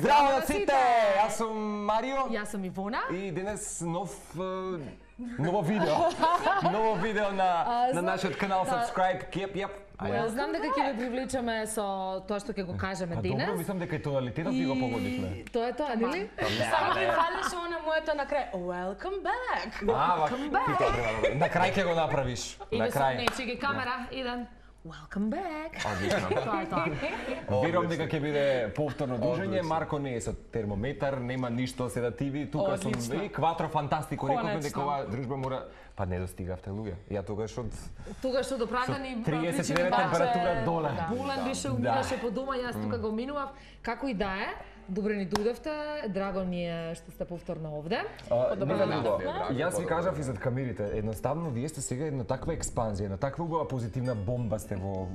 Здраво на сите! Јас сум Марио. Јас сум Ивона. И денес ново видео на нашиот канал Subscribe, Kep. Знам дека ќе ве привлечеме со тоа што ќе го кажеме денес. Добро, мислам дека и тоталитетот ви го погодивме. Тоа е тоа, нели? Само ми фалеше она моето на крај. Welcome back. На крај ќе го направиш. На крај. Не, чеки камера, еден. Welcome back. Тоа е тоа. Верувам дека ќе биде повторно дружење. Марко не е со термометар, нема ништо седативи. Тука сум и кватро фантастико. Рековме дека оваа дружба мора па не достигавте луѓе. Ја тогаш од оправдани 39 температура доле. Болен беше, умираше по дома, јас тука го минував. Како и да е, добре ни дојдовте, драго ни е што сте повторно овде. Јас ви кажав и зад камерите, едноставно вие сте сега една таква експанзија, една таква убава позитивна бомба сте во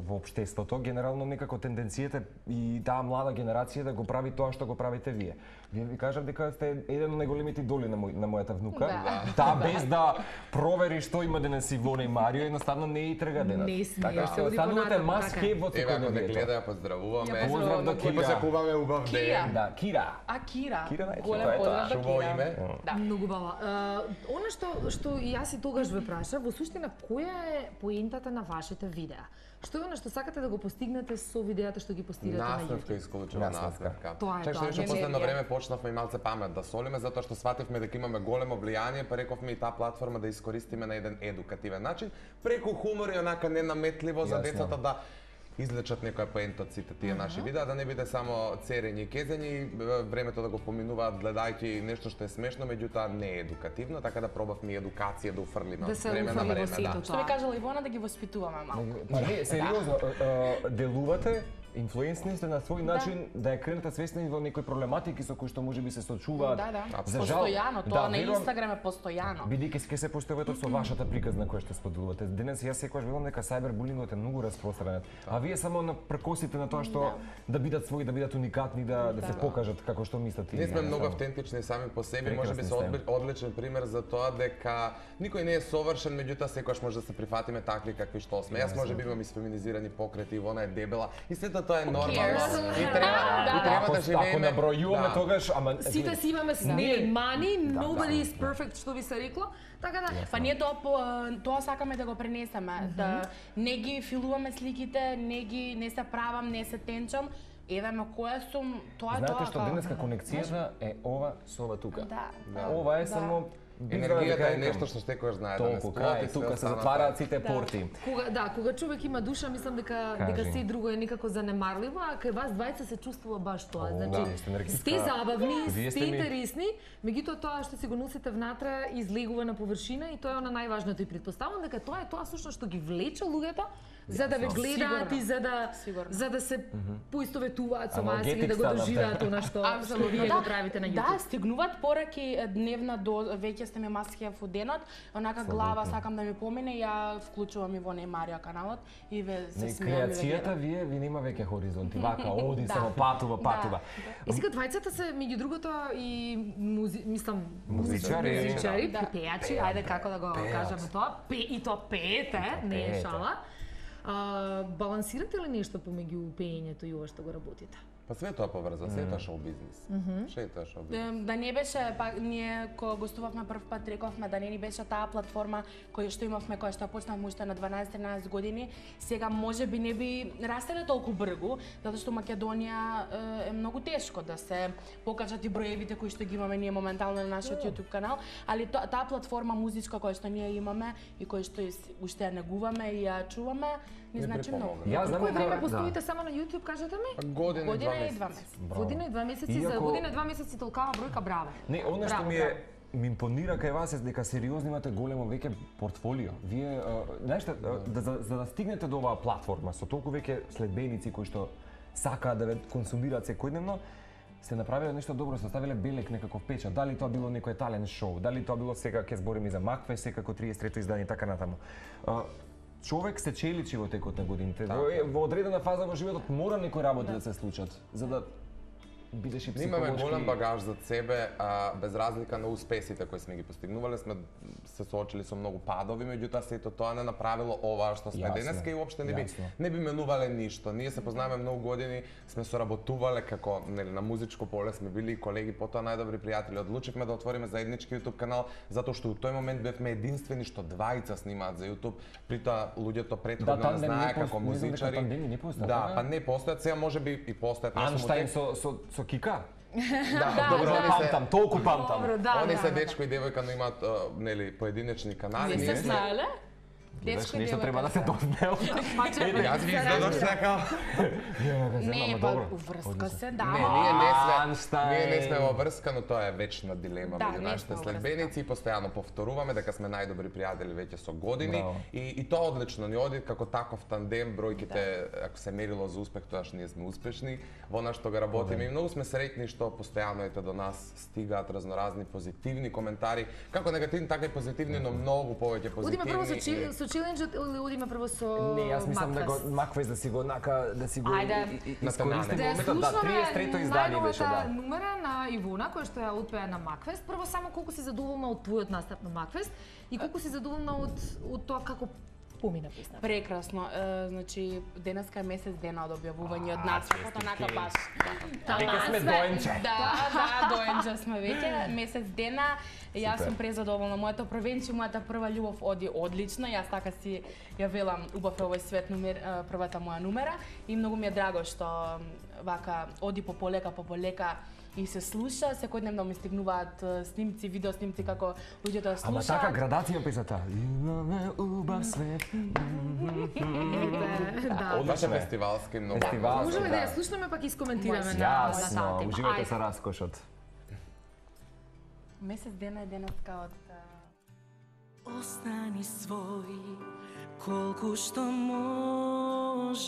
општеството. Генерално некако тенденцијата и таа млада генерација да го прави тоа што го правите вие. Вие ви кажав дека сте еден од најголемите идоли на мојата внука. Таа без да провери што има денес Ивона и Марио, едноставно не и трга денес. Не смее, така се останувате маски во секој ден. Гледа, поздравуваме. Поздрав до Кира. Посакуваме убав ден. Да, Кира. Кира. Голем поздрав до Кира. Име. Да. Многу бава. Она што јас и тогаш ве прашав, во суштина која е поентата на вашите видеа? Што е она што сакате да го постигнете со видеата што ги постигате на YouTube? Наставка, исклучува наставка. Тоа е Чак тоа. што последно време почнавме и малце памет да солиме затоа што свативме дека имаме големо влијание, па рековме и таа платформа да искористиме на еден едукативен начин, преку хумор и онака ненаметливо за децата да излечат некоја поента од сите тие наши видеа, да не биде само церење и кезење, времето да го поминуваат гледајќи нешто што е смешно, меѓутоа не е едукативно, така да пробавме и едукација да уфрлиме од време на време. Што ви кажала Ивона, да ги воспитуваме малку. Па не, сериозно, делувате, инфлуенсни сте на свој начин да ја кренете свесни во некои проблематики со кои што можеби се сочуваат. Да. За жал, постојано, тоа на Инстаграм е постојано. Бидејќи ќе се постојувате со вашата приказна која што споделувате. Денес јас секогаш велам дека сајбербулингот е многу распространет. А вие само на прекосите на тоа што да бидат своји, да бидат уникатни, да се покажат како што мислат. Ние сме многу автентични сами по себе, можеби се одличен пример за тоа дека никој не е совршен, меѓутоа секогаш може да се прифатиме такви какви што сме. Јас можеби имам феминизирани покрети, Ивона е дебела и сето тоа е нормално. И треба да живееме. Ако набројуваме тогаш, ама сите си имаме мани, nobody is perfect, што би се рекло. Така да, па ние тоа сакаме да го пренесеме, да не ги филуваме сликите, не се правам, не се тенчам. Еве која сум, тоа е тоа. Знаете што денеска конекцијата е ова со ова тука. Да. Ова е само енергијата е нешто што секојаш знае да не сплоти, тука се затвараат сите порти. Кога човек има душа, мислам дека се друго е некако занемарливо, а кај вас двајца се чувствува баш тоа. Значи, сте забавни, сте интересни, меѓутоа тоа што си го носите внатре излегува на површина и тоа е она најважното и претпоставувам дека тоа е тоа всушност што ги влече луѓето за да ве гледаат и за да се поистоветуваат со вас или да го доживеат она што вие го правите на YouTube. Да, стигнуваат пораки дневна до веќе сте ме маскија во денот, онака глава сакам да ми помине, ја вклучувам и во Марио каналот и ве се смеам. Креацијата ви нема веќе хоризонти, вака оди само патува. И сега двајцата се меѓу другото и мислам музичари, пејачи, ајде како да го кажеме тоа, и тоа пеете, не е шала. Балансирате ли нешто помеѓу пеењето и ова што го работите? Па све тоа поврза, све тоа шоу бизнис. Да не беше, па ние кога гостувавме прв пат рековме да не ни беше таа платформа која што имавме, која што почнавме уште на 12-13 години, сега можеби не би растеле толку брзо, затоа што Македонија е многу тешко да се покажат и броевите кои што ги имаме ние моментално на нашиот YouTube канал, али таа платформа музичка која што ние имаме и која што уште ја негуваме и ја чуваме, не значи многу. Колко време постоите само на YouTube, кажете ми? Година и 2 месеци. Година и 2 месеци, за година и 2 месеци толкава бројка, браво. Не, она што ми импонира кај вас е дека сериозно имате големо веќе портфолио. Вие, знаете, за да стигнете до оваа платформа со толку веќе следбеници кои што сакаат да ве консумираат секојдневно, сте направиле нешто добро, сте ставиле белек некаков печат. Дали тоа било некој талент шоу, дали тоа било сега ќе збориме за Макфе, секако 33-то издание и така натаму. Човек се челичи во текот на годините. Во одредена фаза во животот мора некои работи да се случат, за да бидеш и психолошки. Имаме голем багаж за себе, без разлика на успесите кои сме ги постигнувале, сме се соочили со многу падови, меѓутоа сето тоа не направило ова што сме денеска и уопште не би менувале ништо. Ние се познаваме многу години, сме соработувале како на музичко поле, сме били колеги, потоа најдобри пријатели. Одлучивме да отвориме заеднички YouTube канал затоа што во тој момент бевме единствени што двајца снимаат за YouTube. Притоа луѓето претходно не знае како музичари. Да, па не постојат, сега можеби и постојат. Анштајн со Кика? Да, добро, памтам, толку памтам. Они се дечко и девојка, но имаат поединечни канали. Не се знаеле? Дечко нешто треба да се дознел. Јас ви издадох сека. Не, па уврска се, да. Ние не сме во врска, но тоа е вечна дилема меѓу нашите следбеници и постојано повторуваме дека сме најдобри пријатели веќе со години и тоа одлично ни оди како таков тандем, бројките ако се мерило за успех, тоа што ние сме успешни во она што го работиме и многу сме среќни што постојано до нас стигаат разноразни позитивни коментари, како негативни така и позитивни, но многу повеќе позитивни. Челенџот или одиме прво со Не, јас мислам да го Макфест да си го искористиме моментот, да, 33-то издание беше, да. Numera на Ивона која што ја отпеа на Макфест. Прво само колку си задоволна од твојот настап на Макфест и колку си задоволна од тоа како помина песната. Прекрасно. Значи денеска е месец дена од објавување од настапот, онака баш. Веќе сме доенче. Да, доенче сме веќе. Месец дена. Јас сум презадоволна. Моето првенче, мојата прва љубов оди одлично. Јас така си ја велам, убав е овој свет првата моја numera и многу ми е драго што вака оди по полека и се слуша, секојдневно ми стигнуваат снимци, видео снимци како луѓето слушаат. Ама така градација песната. Имаме убав свет. Одличен фестивалски многу. Можеме да ја слушнеме пак искоментираме на таа тема. Уживајте со раскошот. Месец дена е денеска од Остани свој колку што можеш.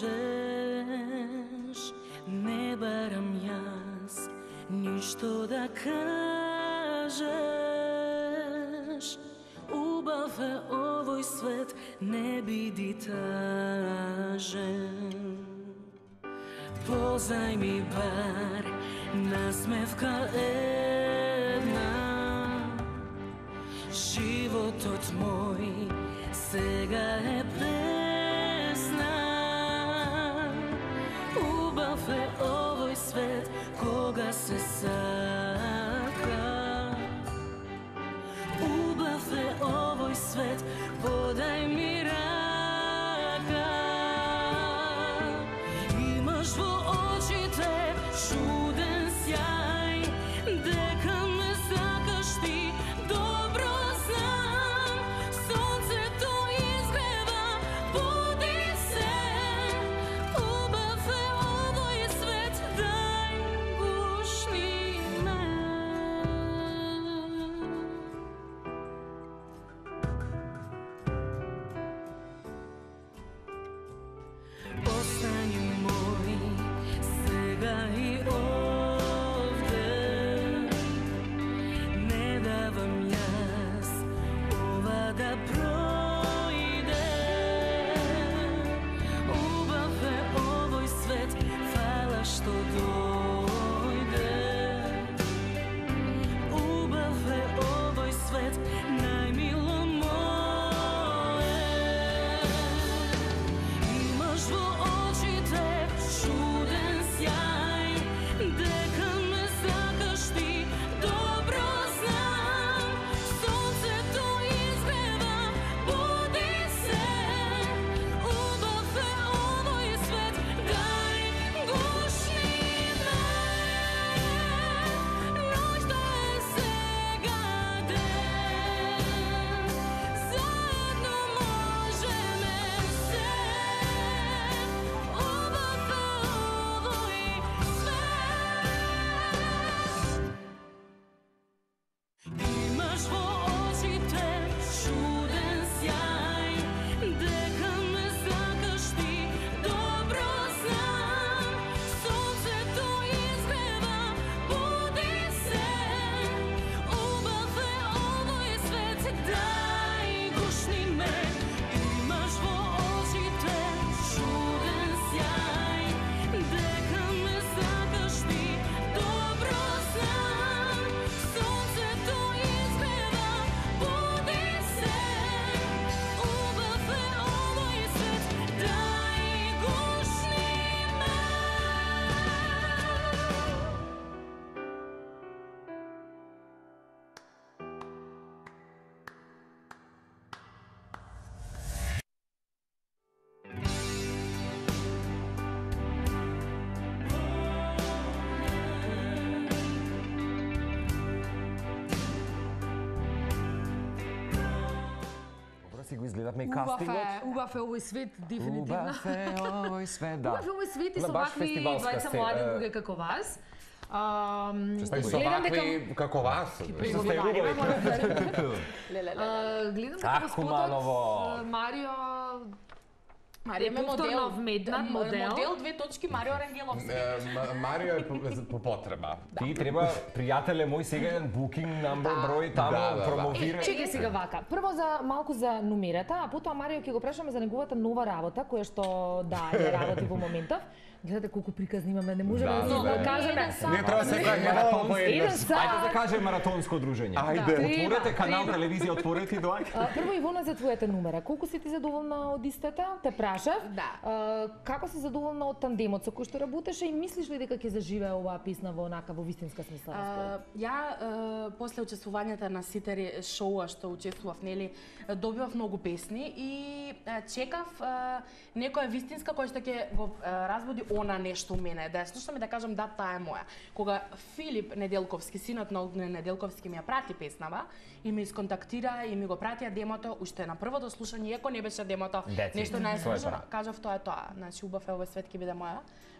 Не барам јас ништо да кажеш. Убав е овој свет, не биди тажен. Позајми бар насмевка една. Животот мој сега е песна. Убав е овој свет кога се сака. Убав е овој свет, подај ми рака. Имаш во очите чуден сјај, дека ме сакаш ти, добро знам. Сонце изгледавме и кастингот. Убав е овој свет, дефинитивно. Убав е овој свет, да. Убав е овој свет и со вакви двајца млади луѓе како вас. Па и со вакви како вас. Гледам дека господот Марио Марио повторно вмеднат модел. Модел 2 Марио Рангеловски. Марио е по потреба. Ти треба, пријателе мој, сега еден booking number број таму промовира. Чекај сега вака. Прво за малку за номерата, а потоа Марио ќе го прашаме за неговата нова работа која што ја работи во моментов. Гледате колку приказни имаме, не можеме да кажеме. Не треба се маратон Ајде да кажеме маратонско дружење. Отворете канал телевизија, отворете и доаѓа. Прво Ивона за твојата номера. Колку си ти задоволна од истата? Те прашав. Да. Како си задоволна од тандемот со кој што работеше и мислиш ли дека ќе заживее оваа песна во вистинска смисла? Ја после учествувањето на сите шоуа што учествував, нели, добивав многу песни и чекав некоја вистинска која што ќе го разбуди она нешто у мене, да ја слушам и да кажам да, таа е моја. Кога Филип Неделковски, синот на Огнен Неделковски, ми ја прати песнава и ме исконтактира и ми го пратија демото, уште на првото слушање, иако не беше демото, нешто најслушано, кажав тоа е тоа. Значи, убав е овој свет ќе биде моја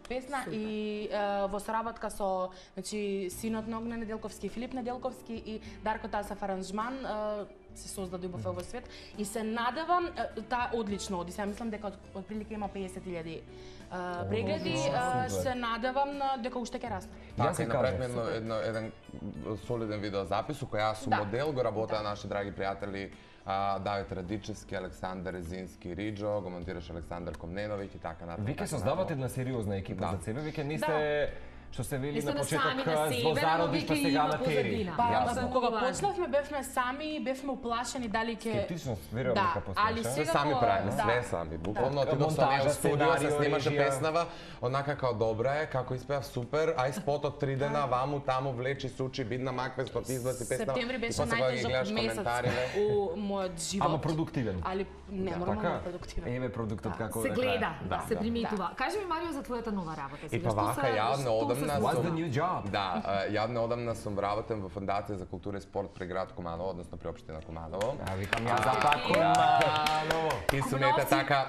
песна. Супер. И во соработка со, значи, синот на Огнен Неделковски, Филип Неделковски и Дарко Тасов аранжман, се создаде убав овој свет и се надевам, таа одлично оди. Сега мислам дека отприлика има 50.000 прегледи, се надевам дека уште ќе расне. Така, направивме еден солиден видеозапис, кој јас сум модел, го работеа наши драги пријатели Давид Радичевски, Александар Резински, Риджо, го монтираше Александар Комненовиќ и така натаму. Вие ќе создавате една сериозна екипа за себе, вие не сте што се вели на почеток во зародишта сега на тери. Кога почнавме бевме сами, бевме уплашени дали ќе скептичност, верувам дека али сега сами правиме све сами. Буквално отидов со неа студио, се снимаше песнава, онака као добра е, како испеав супер, ај спотот 3 дена ваму таму влечи сучи, бидна макве спот избаци песнава. Септември беше најтежок месец у мојот живот. Ама продуктивен. Али не нормално продуктивен. Еве продуктот како се гледа, се приметува. Кажи ми Марио за твојата нова работа сега. И па вака ја What's the new job? Да, ја неодамна сум вработен во Фондација за култура и спорт при град Куманово, односно при општина Куманово. Викам ја за па Куманово. И сум ете така.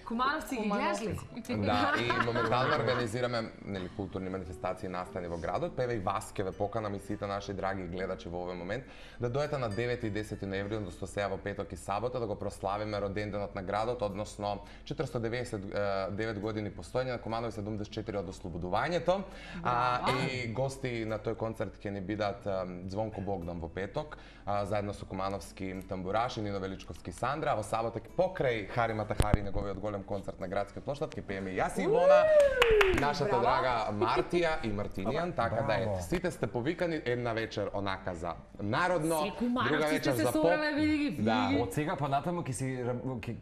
Кумановци ги гледаш ли? Да, и моментално организираме нели културни манифестации настани во градот, па еве и вас ќе ве поканам и сите наши драги гледачи во овој момент да дојдете на 9 и 10 ноември, односно сега во петок и сабота да го прославиме роденденот на градот, односно 499 години постоење на Куманово и 74 од ослободувањето. И гости на тој концерт ќе ни бидат Звонко Богдан во петок, заедно со Кумановски тамбураш и Нино Величковски Сандра, а во сабота покрај Хари Матахари, неговиот голем концерт на градскиот площад, ќе пееме јас и Ивона, нашата драга Мартија и Мартинијан, така да ете, сите сте повикани една вечер онака за народно, друга вечер за поп. Да, од сега па натаму ќе си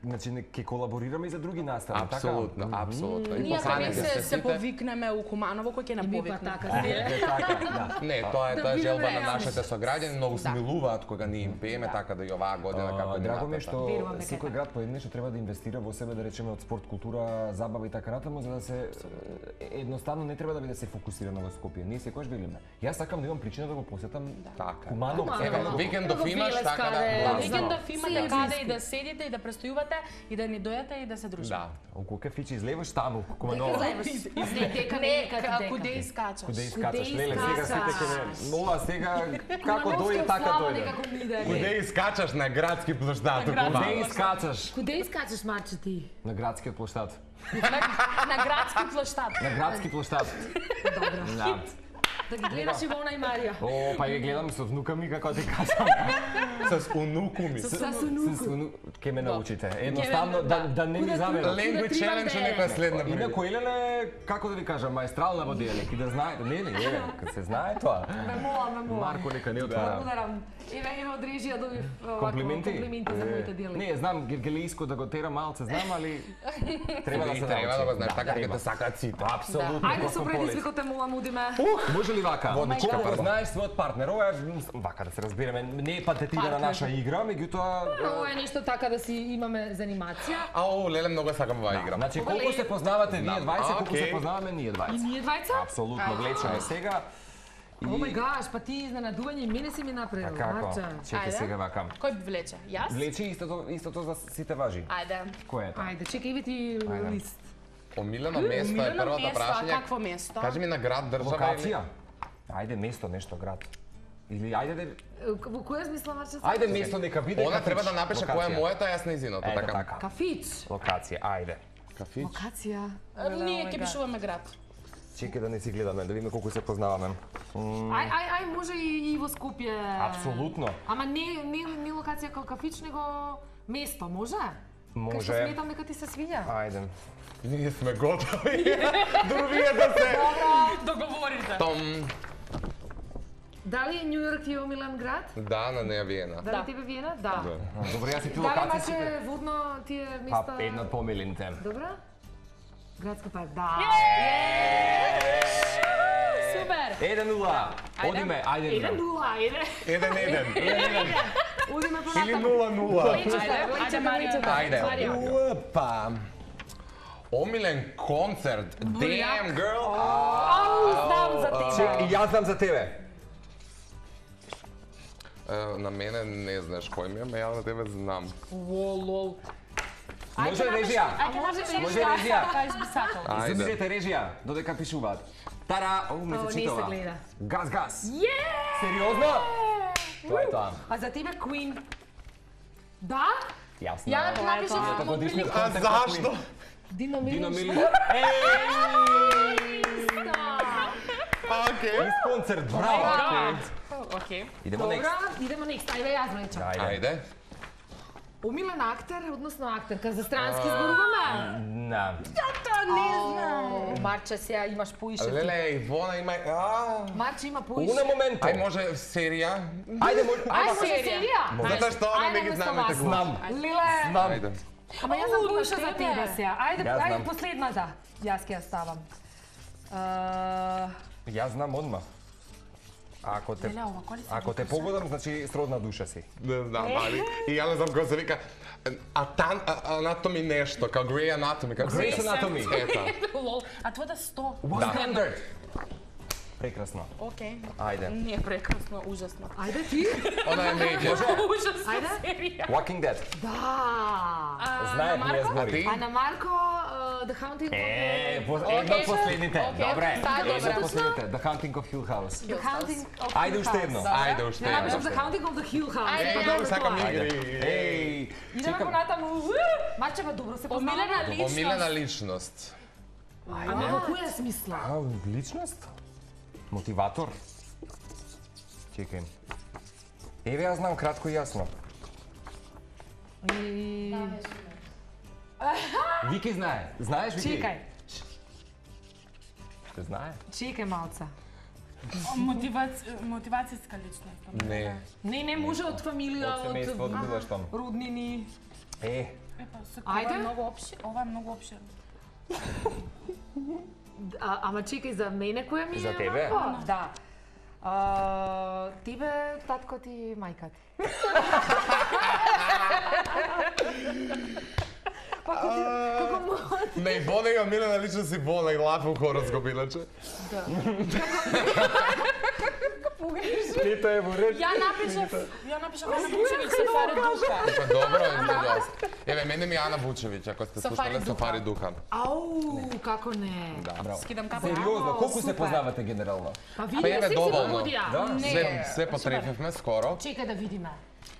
значи ќе колаборираме и за други настави, така? Апсолутно, апсолутно. Ние се повикнеме у Куманово кој ќе наповикне. Не, тоа е желба на нашите сограѓани, многу се милуваат кога ние им пееме, така да и оваа година како ни драго ми што секој град поеднаш треба да инвестира во себе, да речеме од спорт, култура, забава и така натаму, за да се едноставно не треба да биде се фокусирано во Скопје. Ние секогаш велиме. Јас сакам да имам причина да го посетам Куманово. Викендов имаш така да. Викендов имате каде и да седите и да престојувате и да ни дојдете и да се дружите. Да. Околу кафичи излеваш таму Куманово. Куде искачаш? Куде искачаш? Леле, сега сите ќе нова сега како дојде така дојде. Куде искачаш на градски площад? Куде искачаш? Куде искачаш, Марче, ти? На градскиот площад. На градски площад. На градски площад. Добро. Да ги гледаш Ивона и Марија. О, па ги гледам со внука ми, како ти кажам. С унуку ми. С унуку. Ке ме научите. Едноставно да не ми замерат. Language challenge некоја следна прилика. Инаку Елена, како да ви кажам, маестрална во диалект и да знаете, не, кога се знае тоа. Ме мола. Марко нека не отвара. Благодарам. Еве од режија добив комплименти за моите диалекти. Не, знам гергелиско да го тера малце, знам, али треба да се треба да го знаеш, така ќе те сакаат сите. Апсолутно. Ајде со предизвикот те молам, удиме. Може ли вака? Водичка Колку знаеш својот партнер? Ова е вака да се разбереме, не е патетирана наша игра, меѓутоа ова е нешто така да си имаме занимација. Ау, леле, многу сакам оваа игра. Значи колку се познавате вие двајца, колку се познаваме ние двајца. И ние двајца? Апсолутно, влечеме сега. О мај гаш, па ти изненадување и мене си ми направил, Марча. Чекај сега вака. Кој влече? Јас? Влечи истото за сите важи. Ајде. Кој е тоа? Ајде, чекај, иви ти лист. Омилено место е првото прашање. Какво место? Кажи ми на град, држава Локација? Ајде место, нешто град. Или ајде да Во која смисла, Марча? Ајде место нека биде. Она треба да напише кој е моето, јас нејзиното, Ето така. така. Кафич. Локација, ајде. Кафич. Локација. Ние ќе пишуваме град. Чекај да не си гледаме, да видиме колку се познаваме. Ај, може и во Скопје. Апсолутно. Ама не локација како кафич, него место, може? Кај што Може. сметам дека ти се свиѓа. Ајде. Ние сме готови. Други да се. Договорите. Том. Дали Њу Йорк ти е омилен град? Да, на неја Виена. Дали тебе Виена? Да. Добре, јас и ти Дали локациите. имаше водно тие Па места? една од помилите. Добра? Градска парк, да. Супер. 1-0. Одиме, ајде. 1-0, ајде. 1-1. Одиме Или понатаму. 0-0. Ајде, Марија. Ајде. Опа. Омилен концерт. Damn girl. Знам за тебе. И јас знам за тебе. На мене не знаеш кој ми е, ме ја на тебе знам. Лол. Може режија. Може режија. Кажи би сакал. Ајде. Замирете режија, додека пишуваат. Тара, не се Не се читава. гледа. Газ. Сериозно? Тоа е тоа. А за тебе Queen? Да? Јасно. Ја напишав Ето годишниот А концерт на зашто? Queen. Дино Дино Милиш. Милиш. Океј. Из концерт, браво. Океј. Идемо Добра, next. идемо next. Ајде јас речам. Ајде. Омилен актер, односно актерка, за странски зборуваме? На. Марче, сега имаш поише. Леле, Ивона има... Марче има поише. Уна моменто. Ај може серија? Ајде, може. Ајде, може серија? Затоа што она не ги Ајде, знаме вместо таку. вас. Знам. Лиле, Знам. Ајде. ама јас знам поише за тебе сега. Јас Ајде, знам. последната. Јас ќе ја ставам. Јас знам одма. Ако те погодам, значи сродна душа си. Не знам, али. И ја не знам кој се вика... Anatomy нешто, као Grey Anatomy. Grey's Anatomy. Ета. Лол. А твојата 100. Standard. Прекрасно. Океј. Ајде. Не, прекрасно, ужасно. Ајде ти. Она е меѓу. Ужасно Ајде. серија. Walking Dead. Да. Знаев ние А збори. ти? А на Марко, The Haunting of Едно од последните. Океј. Добре. Таа е Едно од добра. последните. The Haunting of Hill House. The Haunting of Ајде Hill уште House. едно. Ајде, уште Ја напишам едно. The Haunting of the Hill House. Ајде, Па добро сакам тоа е. игри. Еј. Идеме понатаму. Марче, ба добро се Омилена познаваме. Омилена личност. личност. Ама во која смисла? Личност? Мотиватор? Чекај. Еве јас знам кратко и јасно. Вики знае. Знаеш, Вики? Чекај, Те знае. чекај малца. Мотивацијска личност. Не. Не, може од фамилија, Од семејство, од било што. роднини. Е, Ајде. Ова е многу опширно. Ама чекај, за мене која ми е? За тебе? Марко? Да. Тебе, татко ти, мајка ти. Па како може? Не, Ивона и омилена личност Ивона и лафу хорос го билаче. Нито е во ред. Ја напишав Ана Вучевиќ Сафари Духа. Па добро, изгледував. Еве, мене ми е Ана Вучевиќ, ако сте Сафари слушале Духа. Сафари Духа. Ау, како не? Скидам капа. Сериозно, колку се супер. познавате генерално? Па Па видиме еве, се си доволно. погодија. Да? Све потрефевме скоро. Чекај да видиме.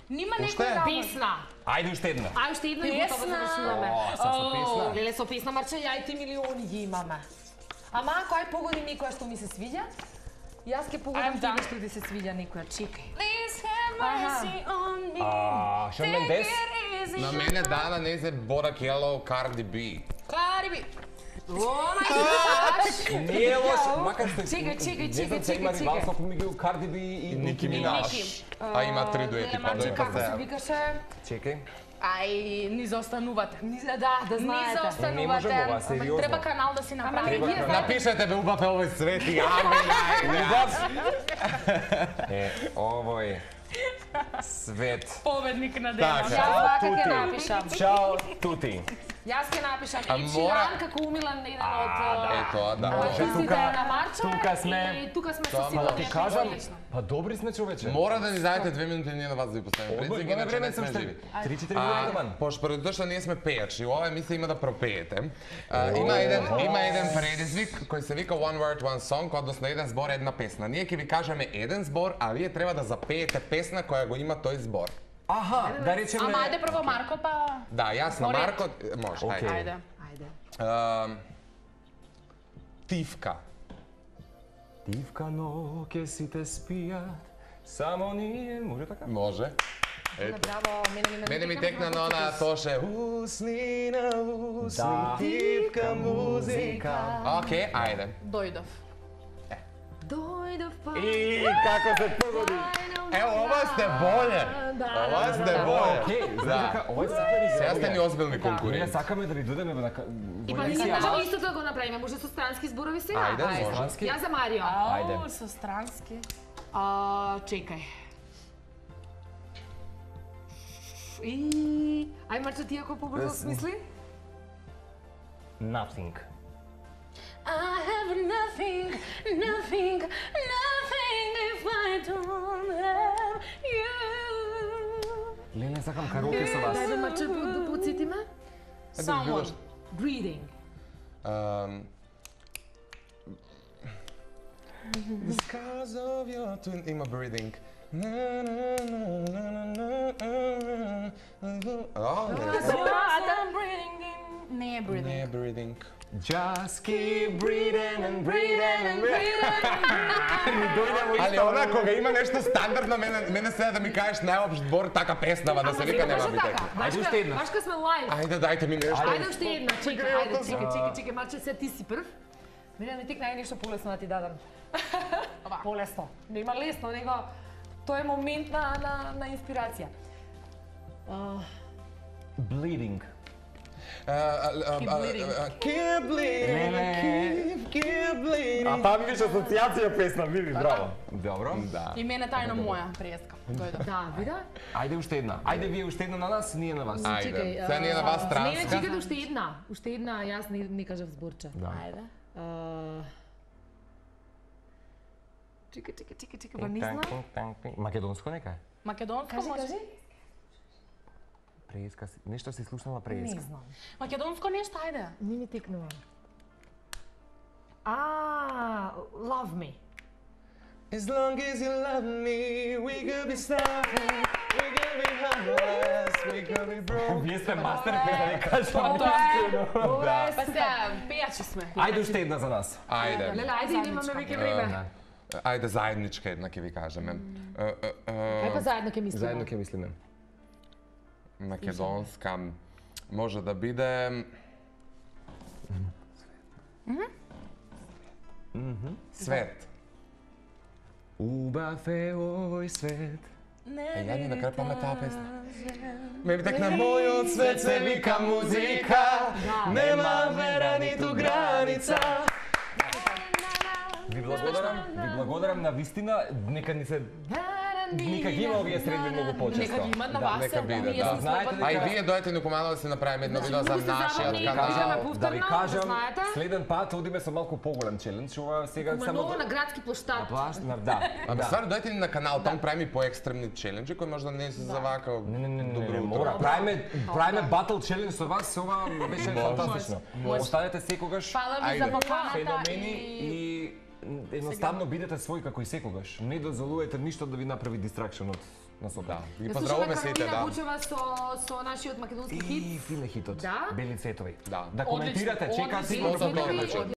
Нима Уште? некој работа. Песна. Ајде уште една. Ај, уште една и готово Песна. завршуваме. О, со песна. Леле, со песна, Марче, ја и ти милиони ги имаме. Ама ако ај погоди некоја што ми се свиѓа, јас ќе погодам I'm тебе done. што ти се свиѓа некоја. Чекај. Please have mercy on me. Шон Мендес? На мене Дана не се Борак Yellow Cardi B. Кариби. О, мај Не е лош, макар што... Чекај, Не знам, се има чекај. ривалство помеѓу Карди Би и Ники Минаж. А има 3 дуети, па Марче, дојка како се се. викаше? Чекај. Ај, ни заостанувате. Да, да Ни знаете. Не можам ова, заостанувате. сериозно. Треба канал да си направи. Ама, вие знаете. Напишете бе убав е овој свет и Убав! Е, овој свет. Победник на Така. денот. Јас вака ќе Тути. напишам. Чао, тути. Јас ќе напишам А Ed мора- Sheeran како умилан еден од Ето, да. артистите на Марча тука сме. и тука сме со Тоа сигурно Ти нешто кажам, одлично. па добри сме човече. Мора да ни заедете 2 минути ние на вас да ви поставиме Одбор, предизвик, имаме иначе време не сам сме ще живи. 3-4 минути ман. Пошто поради тоа што ние сме пејачи, ова емисија има да пропеете. Има еден предизвик кој се вика One Word, One Song, односно еден збор, една песна. Ние ќе ви кажеме еден збор, а вие треба да запеете песна која го има тој збор. Аха, да речеме... Ама ајде прво Марко па Да, јас на Поред. Марко, може, Окей. ајде. ајде. Тивка. Тивка ноќе сите спијат, само ние, може така? Може. Браво, Мене ми текна на она тоше. Усни на усни, тивка музика. Океј, ајде. Дојдов. Дојдов па. И како се погоди. Ево, ова сте боле. Ова сте боле. Окей, знаеш Да. дека, ова е супер Сега идеја. сте ни озбилни Ние конкуренти. сакаме да ви додеме на И па ние можеме истото да го направиме, може со странски зборови сега. Ајде, може. Странски? Јас за Марио. Ајде. Со странски. Чекај. Ај Марчо, ти ако побрзо смисли? Nothing. I have nothing, nothing, nothing if I don't have you. Лене, сакам караоке со вас. Дај Марчо да подсетиме. Someone. Breathing. Because of your twin... Има breathing. О, I'm breathing in. Не е breathing. не е breathing. Just keep breathing and breathing and breathing. Али она кога има нешто стандардно, мене сега да ми кажеш најопшт збор, така песнава, да се вика нема ми текна. Ајде уште една. Башка сме лайв. Ајде, дајте ми нешто. Ајде уште една, чекај, Марче, сега ти си прв. Мене ми текна нешто полесно да ти дадам. Полесно. Не има лесно, него тоа е момент на инспирација. Bleeding. Keep bleeding, keep bleeding. А таа ми беше асоциација песна, види, браво. Добро. Да. И мене тајно моја преска. Дојдов. Да, вида? Ајде уште една. Ајде вие уште една на нас, ние на вас. Ајде, сега ние на вас Не, транска. чекај уште една. Уште една, јас не кажав зборче. Да. Ајде. Чекај, па не знам. Македонско нека е. Македонско Кажи, може? кажи. Преска, нешто си слушнала Не преска. знам. Македонско нешто, ајде. Не ми текнува. Love me. As long as you love me, we could be starving, we could be homeless, we could be broke. Вие сте мастер да не кажам. Ова е Па сега, пејачи сме. Ајде уште една за нас. Ајде. Леле, ајде, имаме веќе време. Ајде заедничка една ќе ви кажеме. Кај па заедно ќе мислиме. Заедно ќе мислиме. Македонска може да биде Свет. Убав е овој свет. Ја не да крпаме таа песна. Ме текна мојот свет се вика музика, нема вера ниту граница. Ви благодарам на вистина, нека ни се нека ги има овие средби многу почесто. Нека ги имат на вас. нека биде, ние да. сме Знаете слободни. А и дека- вие дојдете ни помало да се направиме едно видео за Многу сте нашиот забавни, канал. кажаме Да ви повторно, кажам, знаете? следен пат одиме со малку поголем челендж, ова сега Ма само ново на градски площад. да. Ама стварно дојдете ни на канал, таму правиме по екстремни челенџи кои можда не се за вака. Не, Добро утро. мора. Правиме батл челендж со вас, ова беше фантастично. Останете секогаш Фала ви за поканата феномени и едноставно бидете свој како и секогаш. Не дозволувате ништо да ви направи дистракшн од насока. Ги Да поздравуваме слушаме сите, Каролина да. Вучева со нашиот македонски И хит. фине хитот. Да? Бели цветови. Да. Да коментирате, Одлично, чекате одлично. може да Цветови дојдете. од